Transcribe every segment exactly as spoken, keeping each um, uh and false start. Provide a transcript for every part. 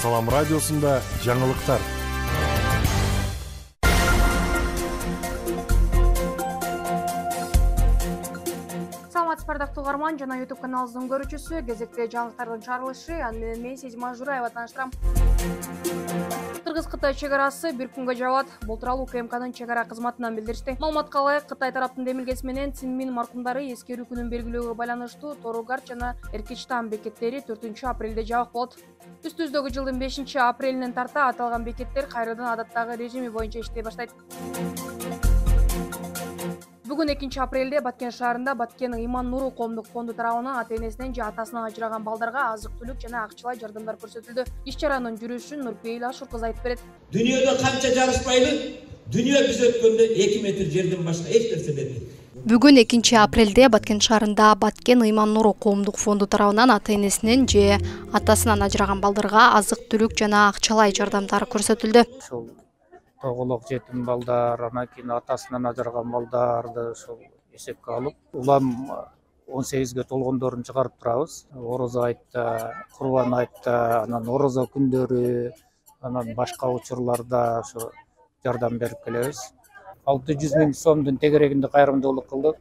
Салам радиосунда жаңылыктар. Саламатсыздар дактуу угарман жана YouTube каналыбыздын көрүүчүсү. Кезекте жаңылыктардын чыгарылышы. Аны менен мен Сезим Ажураева тааныштырам. Кыргыз-Кытай чек арасы бир күнгө жабылат. Бул тууралуу УКМКнын чек ара кызматынан билдиришти. Маалыматка ылайык, Кытай тараптын демилгеси менен Цинмин маркумдары эскерүү күнүн белгилөөгө байланыштуу Торугарт жана Эркичтан бекеттери төртүнчү апрелде жабык болот. Үстүбүздөгү жылдын бешинчи апрелинен тарта аталган бекеттер кайрадан адаттагы режими боюнча иштей баштайт. Бүгүн экинчи апрелде Баткен шаарында Баткен Ыйман Нуру коомдук фонду тарабынан ата-энесинен же атасынан ажыраган балдарга азык-түлүк жана акчалай жардамдар көрсөтүлдү. Иш чаранын жүрүшүн Нурпейил Ашур кызы айтып берет. Дүйнөдө канча жарышпайлы, дүйнө биз өткөндө эки метр жерден башка эч нерсе бербейт. Бүгүн экинчи апрелде Баткен шаарында Баткен Ыйман Нуру коомдук фонду тарабынан ата-энесинен же атасынан ажыраган балдарга азык-түлүк жана акчалай жардамдар көрсөтүлдү. Тоголок жетим балдар, анан кийин атасынан ажыраган балдарды ошол эсепке алып, улам он сегизге толгондорун чыгарып турабыз. Орозо айтта, Курбан айтта, анан орозо күндөрү, анан башка учурларда ошо жардам берип келебиз. алты жүз миң сомдун тегерегинде кайрымдуулук кылдык.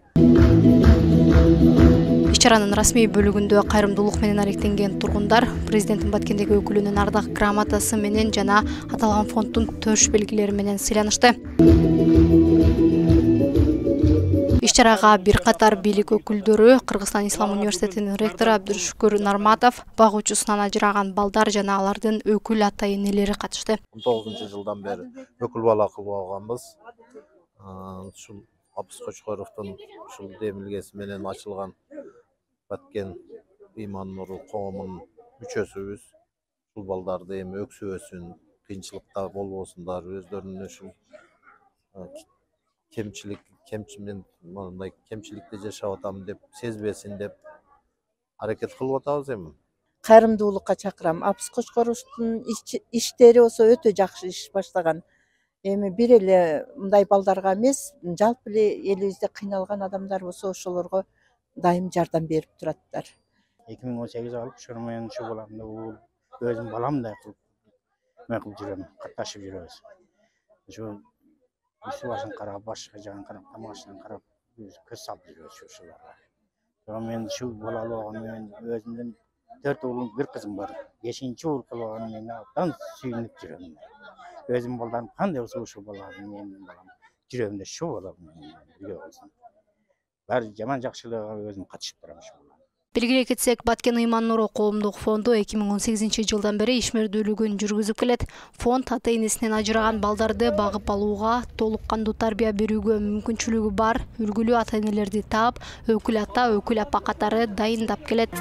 Иш чаранын расмий бөлүгүндө кайрымдуулук менен алектенген тургундар президенттин Баткендеги өкүлүнүн ардак грамотасы менен жана аталган фонддун төш белгилери менен сыйланышты. Иш чарага бир катар бийлик өкүлдөрү, Кыргызстан Ислам университетинин ректору Абдушукур Нарматов, багуучусунан ажыраган балдар жана алардын өкүл ата-энелери катышты. он тогузунчу жылдан бери өкүл бала кылып алганбыз. Ушул Абыс Кочкоровдун ушул демилгеси менен ачылган Баткен Ыйман Нуру коомунун мүчөсүбүз. Ушул балдарды эми өксүбөсүн, кыйынчылыкта болбосундар, өздөрүнүн ушул кемчилик, кемчимен мындай кемчиликте жашап атам деп сезбесин деп аракет кылып атабыз эми. Кайрымдуулукка чакырам. Абыс Кочкоровдун иштери болсо өтө жакшы иш баштаган. Эми бир эле мындай балдарга эмес, жалпы эле элибизде кыйналган адамдар болсо ошолорго дайым жардам берип тураттар. эки миң он сегиз алып, ошону менен ушу баламды уул өзүм баламдай кылып эме кылып жүрөм, катташып жүрөбүз. Ушу үстү башын карап, башка жагын карап, тамак ашынан карап, көз салып жүрөбүз ушуларга. Жана мен ушу балалуу болгону менен өзүмдүн төрт уулум, бир кызым бар. бешинчи уул кылып алгану менен абдан сүйүнүп жүрөм. Өзүм балдарым кандай болсо ушул балаларды менин балам жүрөгүмдө шу балам бирге болсун. Баары жаман жакшылыгына өзүм катышып турам ушул. Белгилей кетсек, Баткен Ыйман Нуру коомдук фонду эки миң он сегизинчи жылдан бери ишмердүүлүгүн жүргүзүп келет. Фонд ата-энесинен ажыраган балдарды багып алууга, толук кандуу тарбия берүүгө мүмкүнчүлүгү бар үлгүлүү ата-энелерди таап, өкүл ата, өкүл апа катары дайындап келет.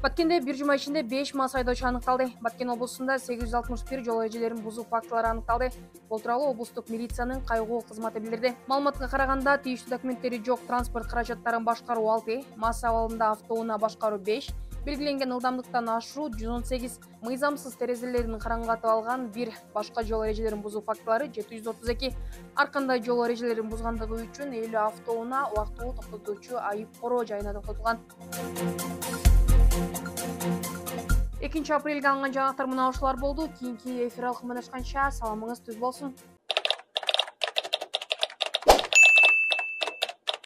Баткенде бир жума ичинде беш мас айдоочу аныкталды. Баткен облусунда сегиз жүз алтымыш бир жол эрежелерин бузуу фактылары аныкталды. Бул тууралуу облустук милициянын кайгуу кызматы билдирди. Маалыматка караганда, тийиштүү документтери жок транспорт каражаттарын башкаруу алты, мас абалында автоунаа башкаруу беш, белгиленген ылдамдыктан ашуу жүз он сегиз, мыйзамсыз терезелерин караңгатып алган бир, башка жол эрежелерин бузуу фактылары жети жүз отуз эки. Ар кандай жол эрежелерин бузгандыгы үчүн элүү автоунаа убактылуу токтотуучу айып короо жайына токтотулган. экинчи апрелге алынган жаңалыктар мына ушулар болду. Кийинки эфир алкымынан ачканча саламыңыз түз болсун.